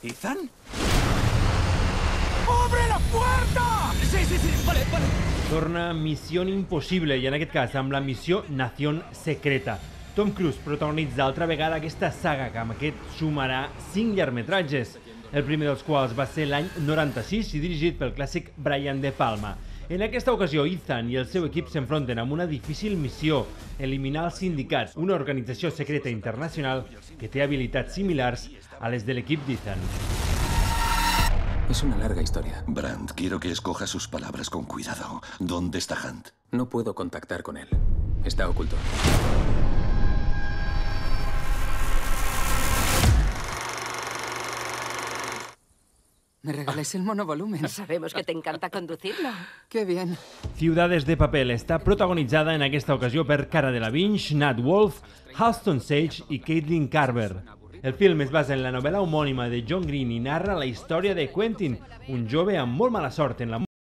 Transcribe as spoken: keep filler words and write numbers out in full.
¿Ethan? ¡Obre la puerta! Sí, sí, sí, vale, vale. Torna Missió Impossible i en aquest cas amb la missió Nación Secreta. Tom Cruise protagonitza altra vegada aquesta saga que amb aquest sumarà cinc llargmetratges, el primer dels quals va ser l'any noranta-sis i dirigit pel clàssic Brian De Palma. En aquesta ocasió, Ethan i el seu equip s'enfronten amb una difícil missió, eliminar els sindicats, una organització secreta internacional que té habilitats similars a les de l'equip d'Ethan. Es una larga historia. Brandt, quiero que escoja sus palabras con cuidado. ¿Dónde está Hunt? No puedo contactar con él. Está oculto. ¿Me regaláis el monovolumen? Sabemos que te encanta conducirlo. ¡Qué bien! Ciudades de Papel està protagonitzada en aquesta ocasió per Cara Delevingne, Nat Wolff, Halston Sage i Caitlin Carver. El film es basa en la novel·la homònima de John Green i narra la història de Quentin, un jove amb molt mala sort en la